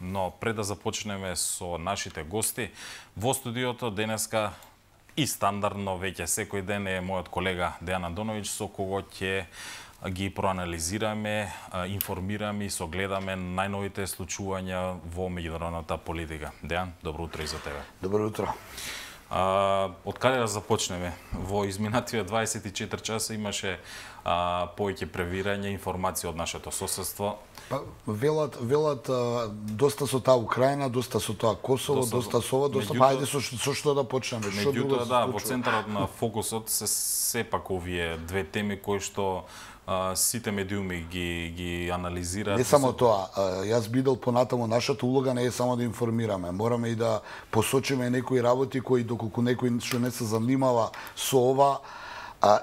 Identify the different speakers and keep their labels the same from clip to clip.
Speaker 1: Но пред да започнеме со нашите гости, во студиото денеска и стандардно веќе секој ден е мојот колега Дејан Андоновиќ, со кого ќе ги проанализираме, информираме и согледаме најновите случувања во меѓународната политика. Дејан, добро утро и за тебе.
Speaker 2: Добро утро.
Speaker 1: Од каде да започнеме? Во изминативе 24 часа имаше повеќе превирање информации од нашето соседство.
Speaker 2: Велат доста со таа Украина, доста со тоа Косово, доста со ова, доста ајде со што да почнеме.
Speaker 1: Меѓутоа, да, во центарот на фокусот се сепак овие две теми кои што сите медиуми ги анализираат.
Speaker 2: Не само тоа, јас бидел понатаму, нашата улога не е само да информираме, мораме и да посочиме некои работи кои доколку некој што не се занимава со ова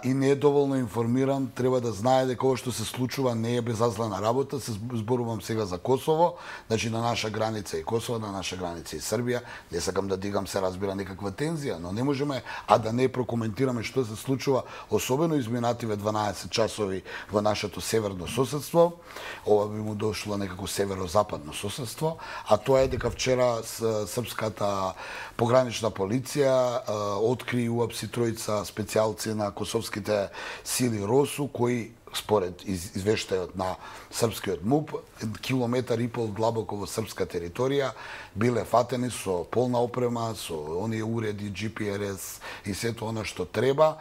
Speaker 2: и не е доволно информиран, треба да знае дека ова што се случува не е безазлена работа. Се зборувам сега за Косово, значи на наша граница и Косово, на наша граница и Србија. Не сакам да дигам, се разбира, некаква тензија, но не можеме да не прокоментираме што се случува, особено изминативе 12 часови во нашето северно соседство. Ова би му дошло некако северо-западно соседство, а тоа е дека вчера српската погранична полиција откри и уапси тројца специјалци на косовските сили РОСУ, кои според извештајот на српскиот МУП, километар и пол длабоко во српска територија, биле фатени со полна опрема, со оние уреди, GPRS и сето она што треба,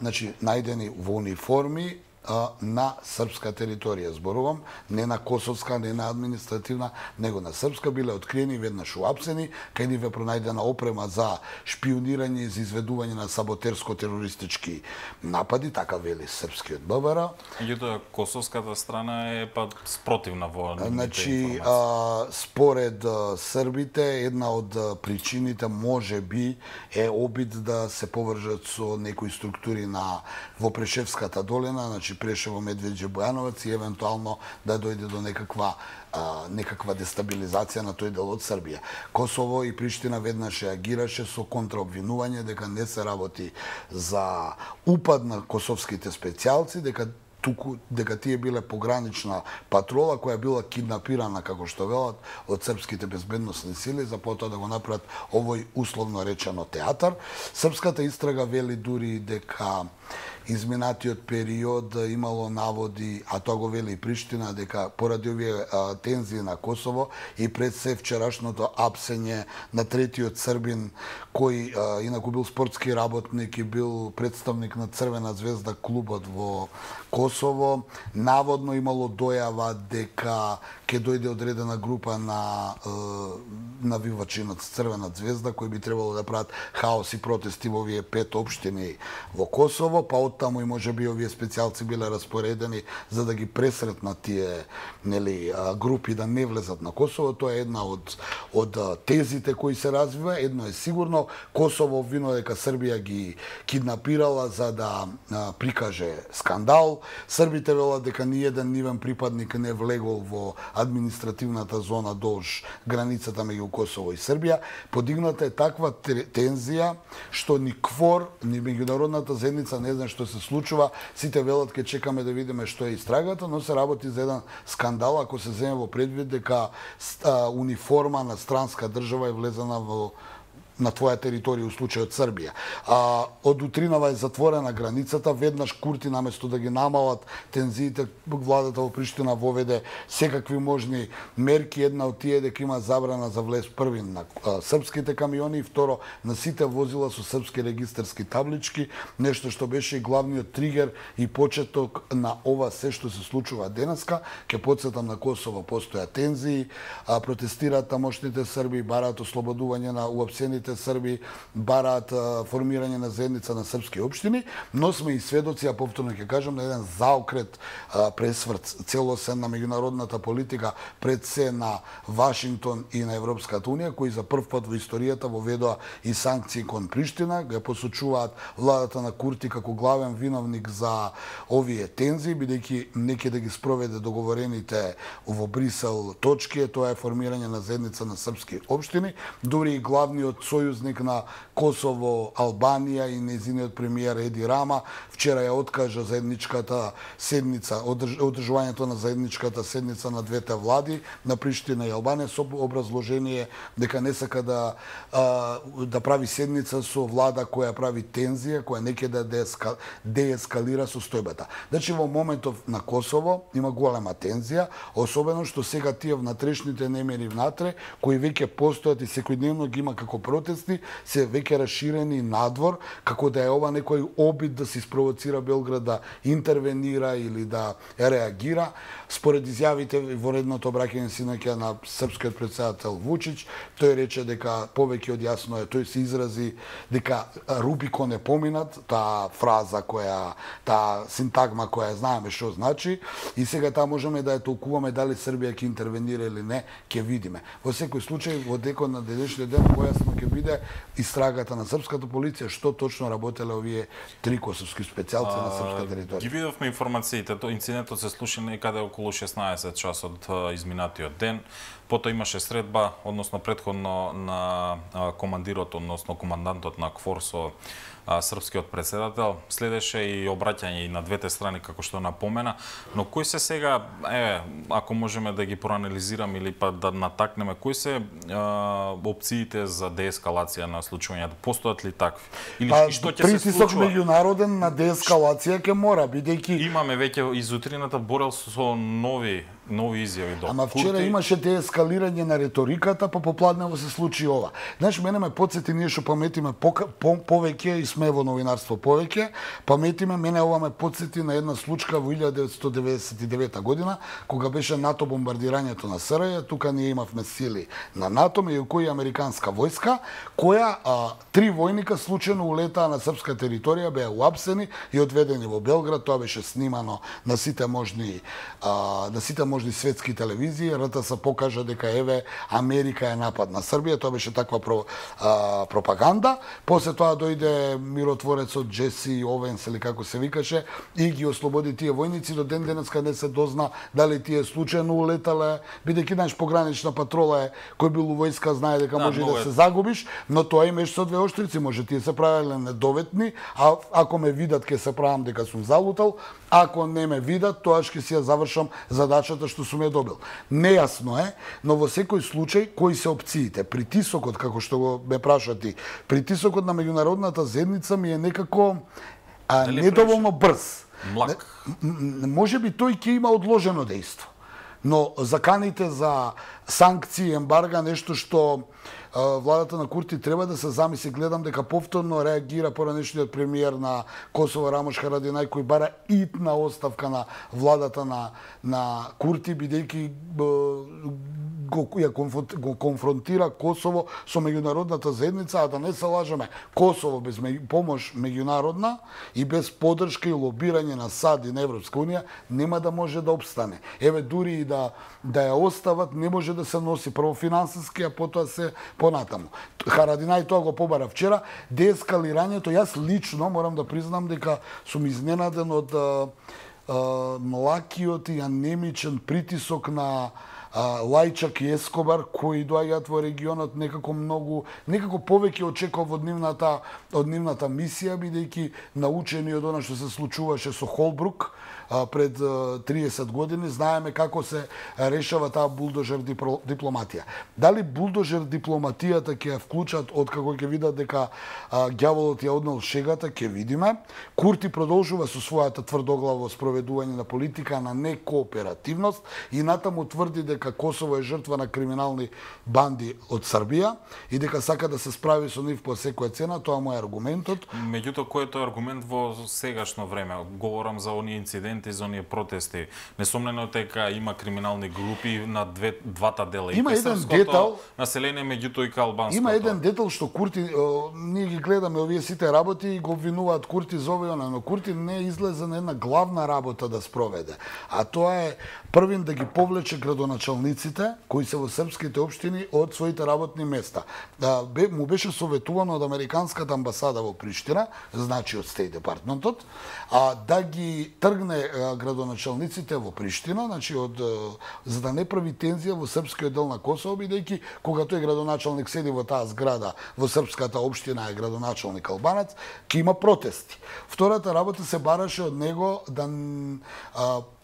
Speaker 2: значи најдени во униформи на српска територија, зборувам, не на косовска, не на административна, него на српска, биле откриени веднаш уапсени, кај ниве пронајдена опрема за шпионирање и за изведување на саботерско-терористички напади, така вели српскиот ББР.
Speaker 1: Меѓутоа, косовската страна е спротивна во нивните
Speaker 2: значи,
Speaker 1: информации.
Speaker 2: Според србите, една од причините може би е обид да се повржат со некои структури во Прешевската долина, значи Прешево, Медвеđe, Бојановац и евентуално да дојде до некаква дестабилизација на тој дел од Србија. Косово и Приштина веднаш реагираше со контраобвинување дека не се работи за упад на косовските специјалци, дека тие биле погранична патрола која била киднапирана, како што велат, од српските безбедносни сили за потоа да го направат овој условно речено театар. Српската истрага вели дури дека изминатиот период имало наводи, а тоа го вели и Приштина, дека поради овие тензии на Косово и пред се вчерашното апсење на третиот србин, кој инаку бил спортски работник и бил представник на Црвена звезда клубот во Косово, наводно имало дојава дека ќе дојде одредена група на навивачи на Црвена звезда кои би требало да прават хаос и протести во овие 5 општини во Косово, па оттаму и можеби овие специјалци биле распоредени за да ги пресретнат тие групи да не влезат на Косово. Тоа е една од тезите кои се развива. Едно е сигурно, Косово обвинува дека Србија ги киднапирала за да прикаже скандал. Србите велат дека ниеден нивен припадник не влегол во административната зона долж границата меѓу Косово и Србија. Подигната е таква тензија што ни КФОР, ни меѓународната заедница не знае што се случува. Сите велат ке чекаме да видиме што е истрагата, но се работи за еден скандал ако се земе во предвид дека униформа на странска држава е влезена на твоја територија, у случајот Србија. Од утринава е затворена границата, веднаш Курти наместо да ги намалат тензиите, владата во Приштина воведе секакви можни мерки. Една од тие дека има забрана за влез први на српските камиони и второ на сите возила со српски регистарски таблички, нешто што беше и главниот тригер и почеток на ова се што се случува денеска. Ке потсетам, на Косово постоја тензии, протестираат тамошните срби, бараат ослободување на уапсените срби, бараат формирање на заедница на српски општини, но сме и сведоци, а повторно ќе кажам, на еден заокрет пресврт целосен на меѓународната политика, пред се на Вашингтон и на Европската унија, кои за прв пат во историјата воведоа и санкции кон Приштина, го посочуваат владата на Курти како главен виновник за овие тензии, бидејќи неќе да ги спроведе договорените во Брисел точки, тоа е формирање на заедница на српски општини, дури и главниот сојузник на Косово, Албанија и нејзиниот премиер Еди Рама вчера ја откажа заедничката седница, одржувањето на заедничката седница на двете влади на Приштина и Албанија со образложение дека не сака да прави седница со влада која прави тензија, која не ќе да деескалира состојбата. Значи во моментов на Косово има голема тензија, особено што сега тие внатрешните немири внатре, кои веќе постојат и секојдневно ги има како протести, се веќе расширени надвор, како да е ова некој обид да се испровоцира Белград да интервенира или да реагира. Според изјавите во редното обраќање синоќа на српскиот претседател Вучич, тој рече дека повеќе од јасно е, тој се изрази дека Рубикон е поминат, таа фраза која, таа синтагма која знаеме што значи, и сега таа можеме да ја толкуваме дали Србија ќе интервенира или не, ќе видиме. Во секој случај, во декот на денешниот ден појасно ќе биде истрагата на српската полиција, што точно работеле овие три косовски специјалци на српска територија.
Speaker 1: Ги видовме информациите, инцидентот се случи некаде околу 16 часот изминатиот ден. Потоа имаше средба, односно претходно на командирот, односно командантот на КФОР со српскиот претседател, следеше и обраќање и на двете страни, како што напомена, но кои се сега, ако можеме да ги проанализираме или па да натакнеме, кои се опциите за деескалација на случувањето? Постојат ли такви? Или што ќе се
Speaker 2: притисок
Speaker 1: случува?
Speaker 2: меѓународен на деескалација ќе мора, бидејќи
Speaker 1: Имаме веќе из утрината Борел со нови изјави до
Speaker 2: Ама вчера имаше деескалирање на риториката, па попладнево се случи ова. Знаеш, мене ме подсети, ние што паметиме повеќе и сме во новинарство повеќе, паметиме, мене ова ме подсети на една случка во 1999 година, кога беше НАТО бомбардирањето на СРЈ, тука ние имавме сили на НАТО, меѓу кои американска војска, која три војника случајно улетаа на српска територија, беа уапсени и одведени во Белград. Тоа беше снимано на сите можни светски телевизии. РТС покажа дека еве Америка е напад на Србија, тоа беше таква пропаганда. После тоа дојде миротворецот Джеси Овенс или како се викаше и ги ослободи тие војници. До ден денеска не се дозна дали тие случајно улетале, бидејќи знаеш погранична патрола е, кој бил у војска знае дека може да се загубиш, но тоа и меч со двеоштрици, може тие се правеле недоветни, а ако ме видат ќе се правам дека сум залутал, ако не ме видат, тоа ќе си ја завршам задачата што сум ја добил. Нејасно е, но во секој случај кои се опциите? Притисокот, како што го ме праша ти, притисокот на меѓународната заедница ми е некако недоволно брз.
Speaker 1: Млак.
Speaker 2: Може би тој ќе има одложено дејство. Но заканите за санкции, ембарга, нешто што владата на Курти треба да се замисли. Гледам дека повторно реагира поранешниот премиер на Косово Рамош Харадинај, кој бара итна оставка на владата на Курти, бидејќи го конфронтира Косово со меѓународната заедница, а да не се лажеме, Косово без помош меѓународна и без поддршка и лобирање на САД и на Европска унија нема да може да опстане. Еве дури и да ја остават, не може да се носи прво финансиски, а потоа се понатаму. Харадинај тоа го побара вчера. Деескалирањето, јас лично морам да признам дека сум изненаден од млакиот и анемичен притисок на Лајчак и Ескобар, кои доаѓаат во регионот, некако повеќе очекував од нивната мисија, бидејќи научени од она што се случуваше со Холбрук пред 30 години, знаеме како се решава таа булдожер дипломатија. Дали булдожер дипломатијата ќе ја вклучат од како ќе видат дека ѓаволот ја однел шегата, ќе видиме. Курти продолжува со својата тврдоглаво спроведување на политика на некооперативност и натаму тврди дека Косово е жртва на криминални банди од Србија и дека сака да се справи со нив по секоја цена. Тоа му е аргументот.
Speaker 1: Меѓутоа, кој е тој аргумент во сегашно време? Говорам за оние инциденти, за оние протести. Несомнено дека има криминални групи на двата дела.
Speaker 2: Има еден детал
Speaker 1: население, меѓутоа и албанското.
Speaker 2: Има еден детал што Курти, ние ги гледаме овие сите работи и го обвинуваат Курти за ова, но Курти не излезе на една главна работа да спроведе. А тоа е првин да ги повлече градоначалниците кои се во српските општини од своите работни места. Му беше советувано од американската амбасада во Приштина, значи од Стејт департментот, да ги тргне градоначалниците во Приштина, значи за да не прави тензија во српскиот дел на Косово, бидејќи кога тој градоначалник седи во таа зграда во српската општина е градоначалник албанец, ќе има протести. Втората работа се бараше од него да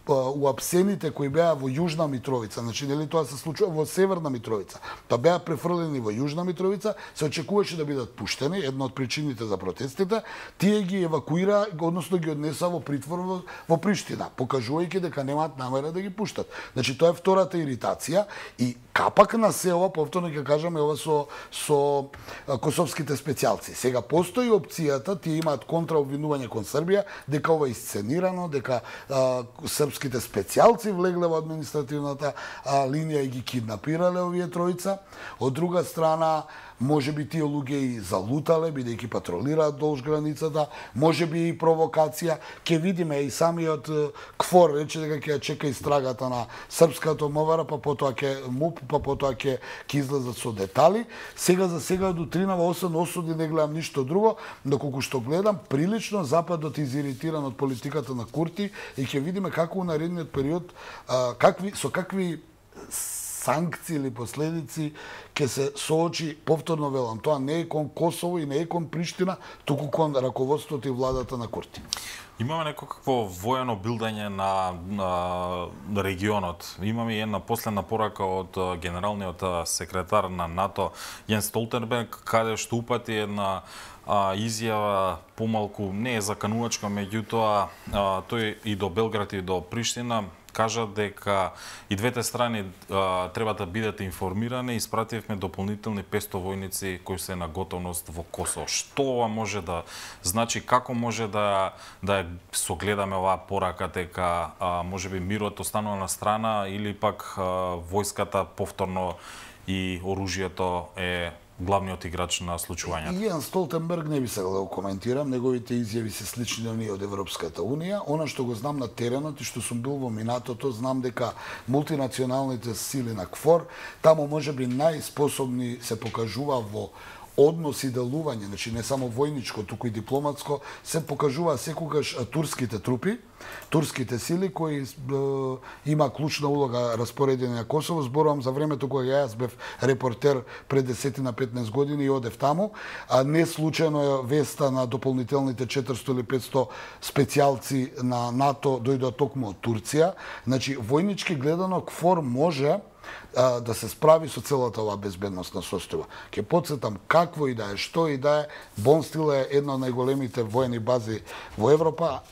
Speaker 2: уапсените кои беа во Јужна Митровица, значи нели тоа се случува во Северна Митровица, па беа префрлени во Јужна Митровица, се очекуваше да бидат пуштени, една од причините за протестите, тие ги евакуира, односно ги однеса во притвор во Приштина, покажувајќи дека немаат намера да ги пуштат. Значи тоа е втората иритација и капак на се ова, повторно ќе кажаме, ова со косовските специјалци. Сега постои опцијата, тие имаат контраобвинување кон Србија, дека ова е исценирано, дека српските специјалци влегле во административната линија и ги киднапирале овие тројца. Од друга страна, може би тие луѓе и залутале, бидејќи патролираат долж границата, може би и провокација. Ке видиме и самиот КФОР рече дека ќе чека истрагата на српската МВР, па потоа ќе МУП, па потоа ќе излезат со детали. Сега за сега од утринава 8 осуди не гледам ништо друго, доколку што гледам, прилично Западот изиритиран од политиката на Курти и ќе видиме како во наредниот период со какви санкции или последици ќе се соочи, повторно велам, тоа не е кон Косово и не е кон Приштина, туку кон раководството и владата на Курти.
Speaker 1: Имаме некакво воено билдање на регионот. Имаме и една последна порака од генералниот секретар на НАТО Јенс Столтенберг, каде што упати една изјава помалку не е заканувачка, меѓутоа тој и до Белград и до Приштина кажа дека и двете страни треба да бидат информирани. Испративме дополнителни 500 војници кои се на готовност во Косово. Што ова може да значи, како може да согледаме оваа порака дека можеби мирот останува на страна или пак војската повторно и оружјето е главниот играч на случувањето?
Speaker 2: Јен Столтенберг не би сакал да го коментирам, неговите изјави се слични на ние од Европската Унија. Она што го знам на теренот и што сум бил во минатото, знам дека мултинационалните сили на КФОР таму можеби најспособни се покажува во однос и делување, значи не само војничко, туку и дипломатско, се покажува секогаш турските трупи, турските сили кои има клучна улога распоредени на Косово. Зборувам за времето кога јас бев репортер пред 10 на 15 години и одев таму, а не случајно е веста на дополнителните 400 или 500 специјалци на НАТО дојдоа токму од Турција. Значи војнички гледано КФОР може да се справи со целата оваа безбедносна состојба. Ќе потсетам какво и да е, што и да е, Бон Стил е една од најголемите воени бази во Европа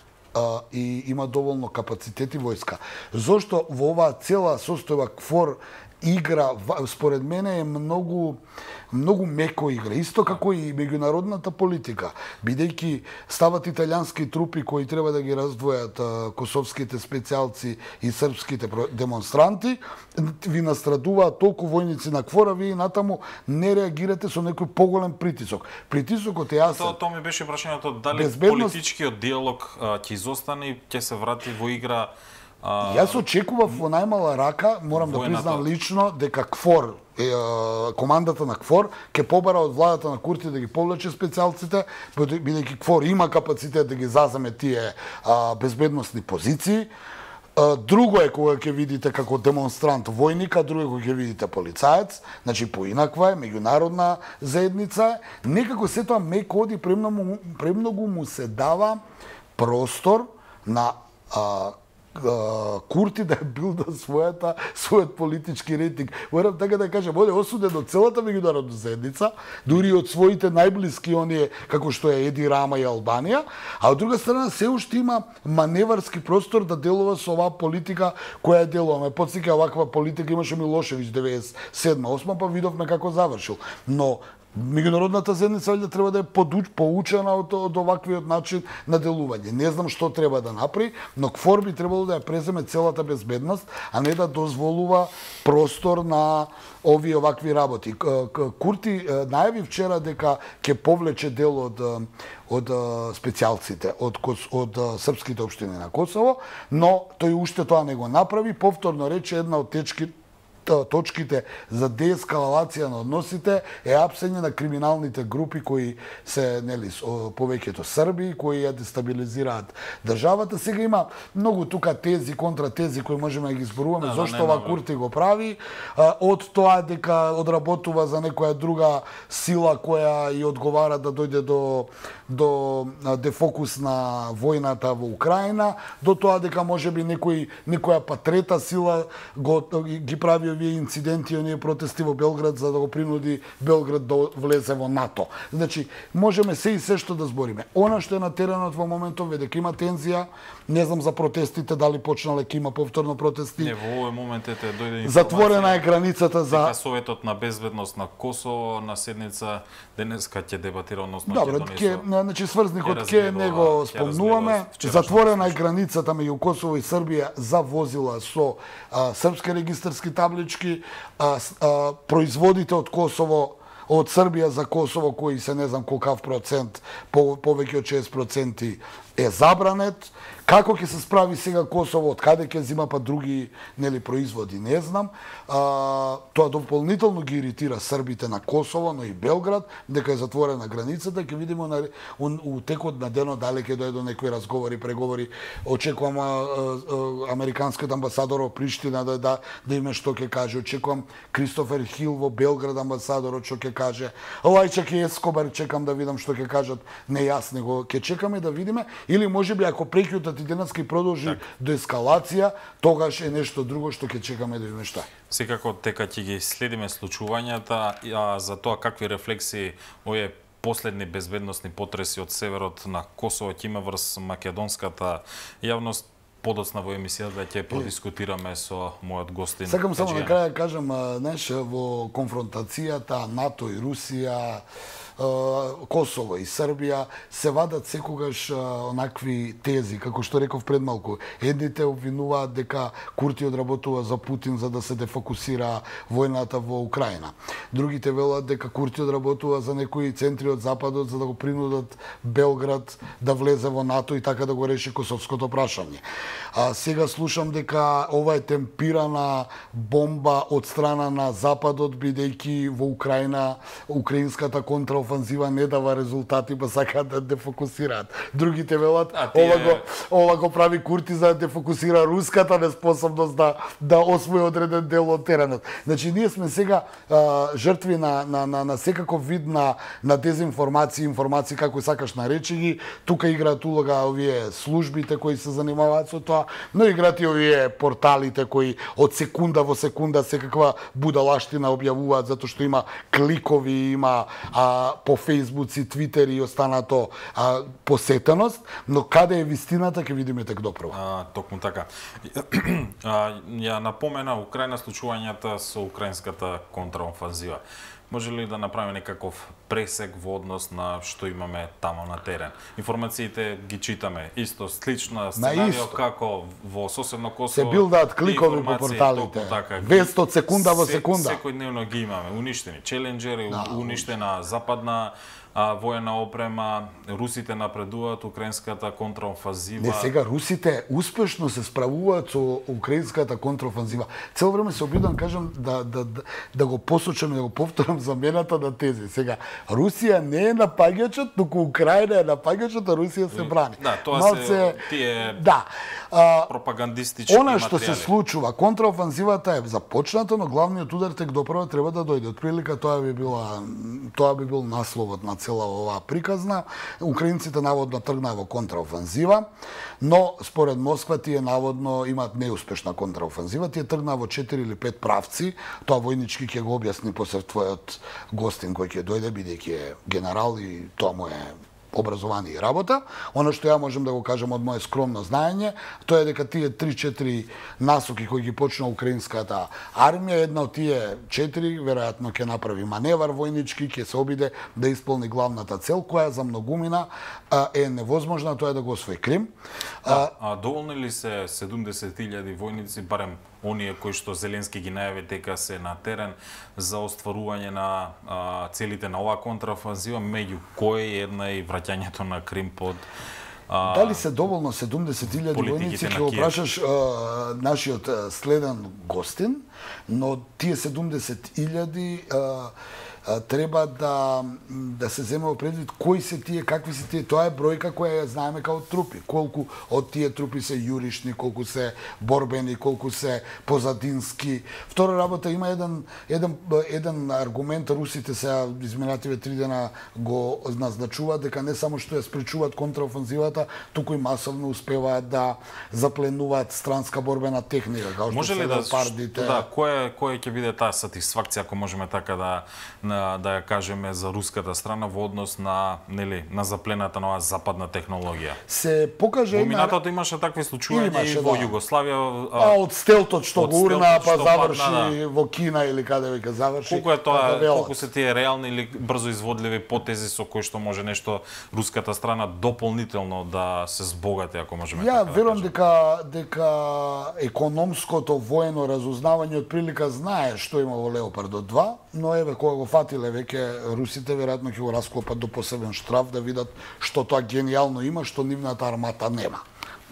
Speaker 2: и има доволно капацитет и војска. Зошто во оваа цела состојба КФОР игра, според мене е многу меко игра, исто како и меѓународната политика, бидејќи стават италијански трупи кои треба да ги раздвојат косовските специјалци и српските демонстранти, ви настрадуваат толку војници на КФОР, вие натаму не реагирате со некој поголем притисок. Притисокот е јасен.
Speaker 1: Тоа ми беше прашањето, дали политичкиот диалог ќе изостане и ќе се врати во игра.
Speaker 2: Јас очекував во најмала рака, морам да признам лично, дека КФОР, командата на КФОР, ќе побара од владата на Курти да ги повлече специјалците, бидејќи КФОР има капацитет да ги заземе тие безбедносни позиции. Друго е кога ќе видите како демонстрант војника, друго е кога ќе видите полицаец, значи поинаква е, меѓународна заедница. Некако се тоа меко оди, премногу му се дава простор на Курти да билда својот политички рейтинг. Морам така да кажам, оде осуден од целата меѓународна заедница, дури од своите најблиски оние како што е Еди Рама и Албанија, а од друга страна се уште има маневарски простор да делува со оваа политика која е делува. Ме потсеќа оваква политика имаше Милошевиќ 97-8, па видовме како завршил. Но меѓународната заедница валјда треба да е поучена од оваквиот начин на делување. Не знам што треба да направи, но КФОР би требало да ја преземе целата безбедност, а не да дозволува простор на овие овакви работи. Курти најави вчера дека ќе повлече дел од специјалците, од српските општини на Косово, но тој уште тоа не го направи. Повторно рече една од точките за деескалација на односите е апсење на криминалните групи кои се повеќето Срби, кои ја дестабилизираат државата. Сега има многу тука тези, контратези кои можеме да ги зборуваме зошто ова Курти го прави, од тоа дека одработува за некоја друга сила која и одговара да дојде до дефокус на војната во Украина, до тоа дека можеби некоја па трета сила ги прави овие инциденти, оние протести во Белград за да го принуди Белград да влезе во НАТО. Значи, можеме се и се што да збориме. Она што е на теренот во моментов е дека има тензија, не знам за протестите дали почнале, ќе има повторно протести.
Speaker 1: Не, во овој момент дојде информација.
Speaker 2: Затворена е границата за
Speaker 1: Советот на безбедност на Косово на седница денеска ќе дебатира, односно
Speaker 2: Добро, значи сврзникот ќе него спомнуваме. Затворена е границата меѓу Косово и Србија за возила со српски регистарски таблички, производите од Косово, од Србија за Косово, кои се не знам колкав процент, повеќе од 6% е забранет. Како ќе се справи сега Косово, од каде ќе зима па други производи, не знам. Тоа дополнително ги иритира србите на Косово, но и Белград, дека е затворена границата. Ќе видиме у текот на денот дали ќе дојде до некои разговори, преговори. Очекувам американскиот амбасадор во Приштина да име што ќе каже. Очекувам Кристофер Хил во Белград амбасадорот што ќе каже. Лајчак и Ескобар чекам да видам што ќе кажат. Нејасно го ќе чекаме да видиме, или можеби ако прекјутат и денеска и продолжи до ескалација, тогаш е нешто друго што ќе чекаме да видиме што.
Speaker 1: Секако дека ќе ги следиме случувањата, а за тоа какви рефлексии овие последни безбедносни потреси од северот на Косово ќе има врз македонската јавност. Подоцна во емисијата ќе продискутираме со мојот гостин.
Speaker 2: Сакам само на крај да кажам, во конфронтацијата НАТО и Русија, Косово и Србија се вадат секогаш онакви тези, како што реков пред малку. Едните обвинуваат дека Курти одработува за Путин за да се дефокусира војната во Украина. Другите велат дека Курти одработува за некои центри од Западот за да го принудат Белград да влезе во НАТО и така да го реши косовското прашање. Сега слушам дека ова е темпирана бомба од страна на Западот, бидејќи во Украина украинската контраофанзива не дава резултати, па сакаат да дефокусираат. Другите велат ова го прави Курти за да дефокусира руската неспособност да освои одреден дел од теренот. Значи ние сме сега жртви на секаков вид на дезинформација, информации како сакаш наречи ги. Тука играат улога овие службите кои се занимаваат со тоа, но играат и овие порталите кои од секунда во секунда секаква будалаштина објавуваат затоа што има кликови, има по Фејсбуци, Твитери и останато посетеност, но каде е вистината ќе видиме тек допрво.
Speaker 1: Токму така. Ја напомена Украина случувањата со украинската контраофанзива. Може ли да направиме некаков пресек во однос на што имаме тамо на терен? Информациите ги читаме исто, слична сценарио како во соседно Косово.
Speaker 2: Се билдаат кликови по порталите. Вест од секунда во секунда.
Speaker 1: Секојдневно ги имаме. Уништени челенџери, уништена западна воена опрема, русите напредуваат, украинската контраофанзива.
Speaker 2: Не, сега русите успешно се справуваат со украинската контраофанзива. Цело време се обидам кажам да го посочам и да го повторам замената на тези. Сега Русија не е напаѓачот, туку Украина е напаѓачот, а Русија се брани.
Speaker 1: Да, тоа се тие пропагандистички
Speaker 2: она што се случува, контраофанзивата е започната, но главниот удар тек допрва треба да дојде. Отприлика тоа би бил насловот на цела оваа приказна. Украинците наводно тргнаа во контраофанзива, но според Москва тие наводно имаат неуспешна контраофанзива. Тие тргнаа во 4 или 5 правци. Тоа војнички ќе го објасни после твојот гостин кој ќе дојде, бидејќи е генерал и тоа му е образование и работа. Оно што ја можам да го кажам од моје скромно знаење, тоа е дека тие 3-4 насоки кои ги почна украинската армија, една од тие 4 веројатно ќе направи маневар војнички, ќе се обиде да исполни главната цел, која за многумина е невозможна, тоа е да го освои Крим.
Speaker 1: Доволни ли се 70.000 војници, барем оние кои што Зеленски ги најави дека се на терен за остварување на целите на оваа контраофанзива, меѓу кои една и враќањето на Крим под
Speaker 2: Дали се доволно 70.000 војници, ќе го прашаш нашиот следен гостин, но тие 70.000 треба да се земе во предвид кои се тие, какви се тие. Тоа е бројка која ја знаеме као трупи. Колку од тие трупи се јуришни, колку се борбени, колку се позадински. Втора работа, има еден аргумент, русите сега изминативе 3 дена го назначуваат дека не само што ја спречуваат контраофанзивата, туку и масовно успеваат да запленуваат странска борбена техника, као што се леопардите.
Speaker 1: Која ќе биде таа сатисфакција, ако можеме така да ја кажеме, за руската страна во однос на заплената нова западна технологија?
Speaker 2: Се покаже
Speaker 1: во минатото имаше такви случаи и во Југославија.
Speaker 2: Од стелтот што го урна па заврши во Кина или каде веќе заврши.
Speaker 1: Колку е тоа, колку се тие реални или брзо изводливи потези со кои што може нешто руската страна дополнително да се збогати, ако можеме така да кажеме?
Speaker 2: Ја верувам дека економското воено разузнавање од прилика знае што има во Леопардот 2, но еве кога го фатиле веќе русите, веројатно ќе го расклопат до посебен штраф да видат што тоа гениално има, што нивната армата нема.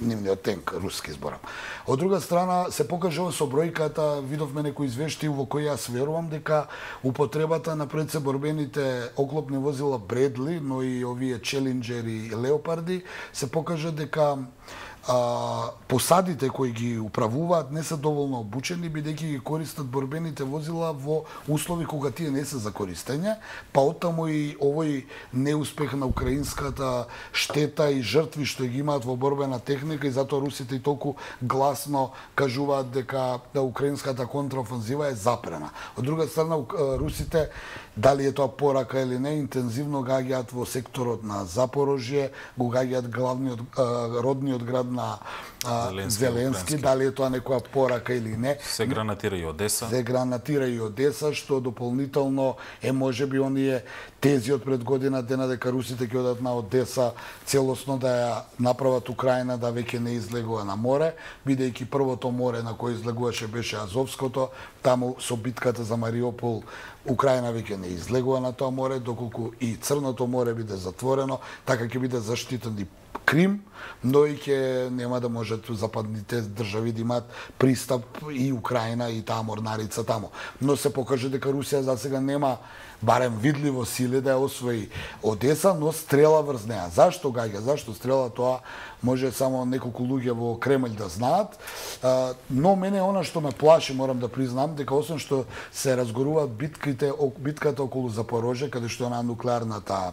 Speaker 2: Нивниот тенк, руски зборам. Од друга страна, се покажува со бројката, видовме некои извештаи во кои јас верувам дека употребата на предсеборбените оклопни возила Бредли, но и овие Челенџери и Леопарди, се покажа дека посадите кои ги управуваат не се доволно обучени, бидејќи ги користат борбените возила во услови кога тие не се за користење, па оттаму и овој неуспех на украинската штета и жртви што ги имаат во борбена техника, и затоа русите и толку гласно кажуваат дека украинската контраофанзива е запрена. Од друга страна, русите, дали е тоа порака или не, интензивно гаѓаат во секторот на Запорожје, го гаѓаат родниот град на Зеленски, дали е тоа некоја порака или не.
Speaker 1: Се гранатира и Одеса.
Speaker 2: Се гранатира и Одеса, што дополнително е можеби оние тези од пред година дена дека русите ќе одат на Одеса целосно да ја направат Украина да веќе не излегува на море, бидејќи првото море на кое излегуваше беше Азовското, таму со битката за Мариупол Украина веќе не излегува на тоа море, доколку и Црното море биде затворено, така ќе биде заштитен и Крим, но и ќе нема да можат западните држави да имаат пристап и Украина и таа морнарица таму. Но се покаже дека Русија за сега нема барем видливо сили да ја освои Одеса, но стрела врз неа. Зашто гаѓа? Зашто стрела? Тоа може само неколку луѓе во Кремљ да знаат. Но мене она што ме плаши, морам да признам, дека освен што се разгоруваат битката околу Запорожје, каде што е на нуклеарната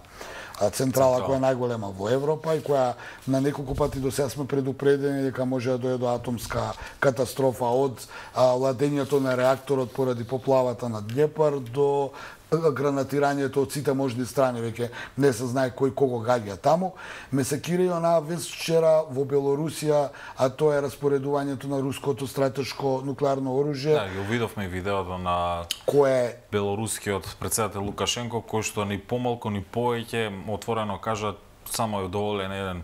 Speaker 2: централа која е најголема во Европа и која на неколку пати до сега сме предупредени дека може да дојде до атомска катастрофа, од ладењето на реакторот поради поплавата на Днепар до гранатирањето од сите можни страни, веќе не се знае кој кого гаѓа таму. Ме секира и онаа вест вчера во Белорусија, а тоа е распоредувањето на руското стратешко нуклеарно оружје.
Speaker 1: Да, го видовме видеото на белорускиот председател Лукашенко, кој што ни помалку ни повеќе отворено кажа само е доволен еден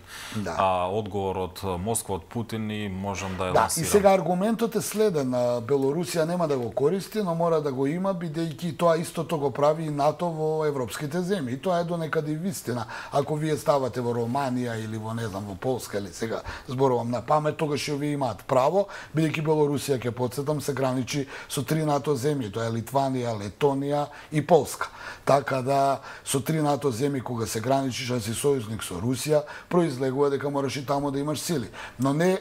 Speaker 1: одговор од Москва, од Путин и можам да ја лансирам.
Speaker 2: И сега аргументот е следен. Белорусија нема да го користи, но мора да го има, бидејќи тоа истото го прави и НАТО во европските земји. И тоа е до некаде вистина. Ако вие ставате во Романија или во, не знам, во Полска, или сега зборувам на памет, тогаш и вие имаат право, бидејќи Белорусија, ќе потсетам, се граничи со 3 НАТО земји. Тоа е Литванија, Летонија и Полска. Така да со 3 НАТО земји кога се граничиш, а си сојузник со Русија, произлегува дека мораш и таму да имаш сили. Но не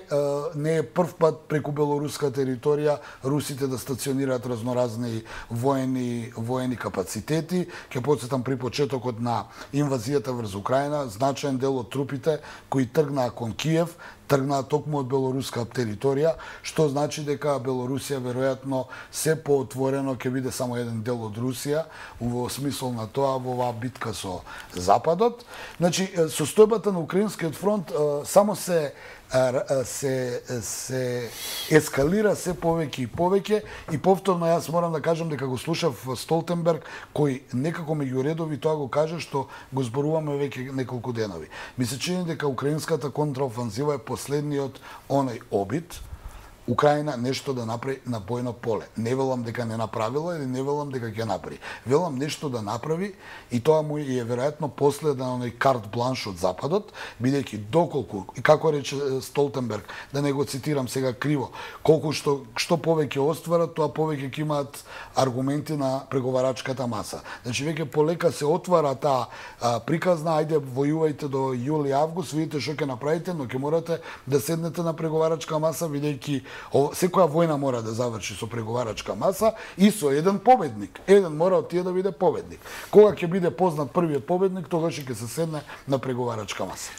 Speaker 2: е прв пат преку белоруска територија русите да стационираат разноразни воени капацитети. Ќе потсетам, при почетокот на инвазијата врз Украина, значаен дел од трупите кои тргнаа кон Киев тргнаа токму од белоруска територија, што значи дека Белорусија веројатно се поотворено ќе биде само еден дел од Русија во смисол на тоа во оваа битка со Западот. Значи, состојбата на Украинскиот фронт само се ескалира се повеќе и повеќе, и повторно јас морам да кажам дека го слушав Столтенберг, кој некако меѓу редови тоа го кажа што го зборуваме веќе неколку денови. Ми се чини дека украинската контраофанзива е последниот оној обид Украина нешто да направи на бојно поле. Не велам дека не направила или не велам дека ќе направи. Велам нешто да направи и тоа му е веројатно последен оној карт бланш од Западот, бидејќи доколку, и како рече Столтенберг, да не го цитирам сега криво, колку што повеќе остварат, тоа повеќе ќе имаат аргументи на преговарачката маса. Значи веќе полека се отвара таа приказна, ајде војувајте до јули август, видите што ќе направите, но ќе морате да седнете на преговарачка маса, бидејќи секоја војна мора да заврши со преговарачка маса и со еден победник. Еден мора од тие да биде победник. Кога ќе биде познат првиот победник, тогаш ќе се седне на преговарачка маса.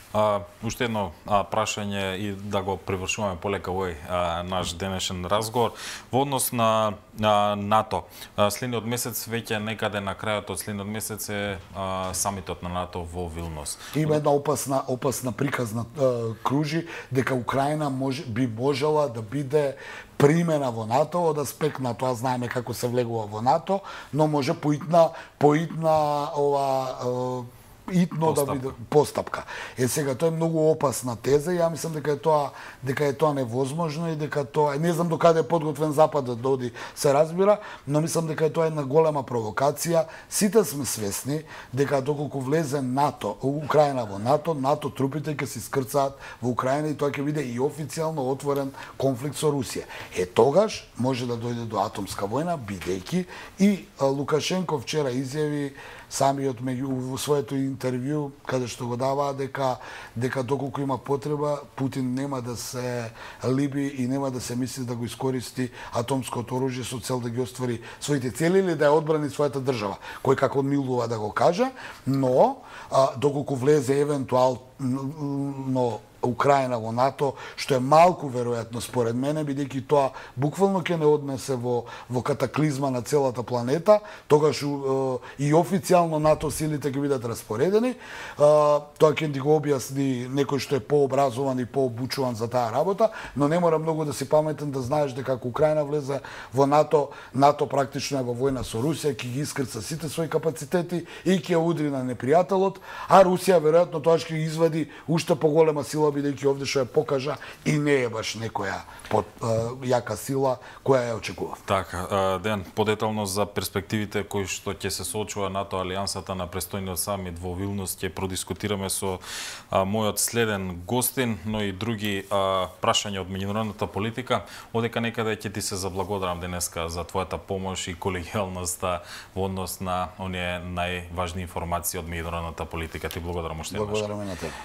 Speaker 1: Уште едно прашање и да го привршуваме полека овој наш денешен разговор во однос на НАТО. Следниот месец веќе некаде на крајот од следниот месец е самитот на НАТО во Вилнус.
Speaker 2: Има една опасна приказна кружи дека Украина би можела да биде примена во НАТО, од аспект на тоа знаеме како се влегува во НАТО, но може поитна итно да биде постапка. Сега тоа е многу опасна теза и ја мислам дека е тоа невозможно и дека тоа не знам до каде е подготвен Западот да оди, се разбира, но мислам дека тоа е една голема провокација. Сите сме свесни дека доколку влезе НАТО, Украина во НАТО, НАТО трупите ќе се искрцаат во Украина и тоа ќе биде и официјално отворен конфликт со Русија. Тогаш може да дојде до атомска војна, бидејќи и Лукашенко вчера изјави самиот во своето интервју, каде што го даваа дека доколку има потреба, Путин нема да се либи и нема да се мисли да го искористи атомското оружје со цел да ги оствари своите цели или да ја одбрани својата држава. Кој како милува да го каже, но доколку влезе евентуално Украина во НАТО, што е малку веројатно според мене, бидејќи тоа буквално ќе не однесе во катаклизма на целата планета, тогаш и официјално НАТО силите ќе бидат распоредени. Тоа ќе ни го објасни некој што е пообразован и пообучуван за таа работа, но не мора многу да си паметен да знаеш дека ако Украина влезе во НАТО, НАТО практично е во војна со Русија, ќе ги искрца сите своји капацитети и ќе удри на непријателот, а Русија веројатно тоа ќе извади уште поголема сила, бидејќи овде што ја покажа и не е баш некоја јака сила која ја очекува.
Speaker 1: Така, Ден, подетално за перспективите кои што ќе се соочува НАТО алијансата на престојниот самит во Вилнус ќе продискутираме со мојот следен гостин, но и други прашања од меѓународната политика. Одека некаде ќе ти се заблагодарам денеска за твојата помош и колегијалноста во однос на оние најважни информации од меѓународната политика. Ти благодарам уште еднаш.
Speaker 2: Благодарам и на тебе.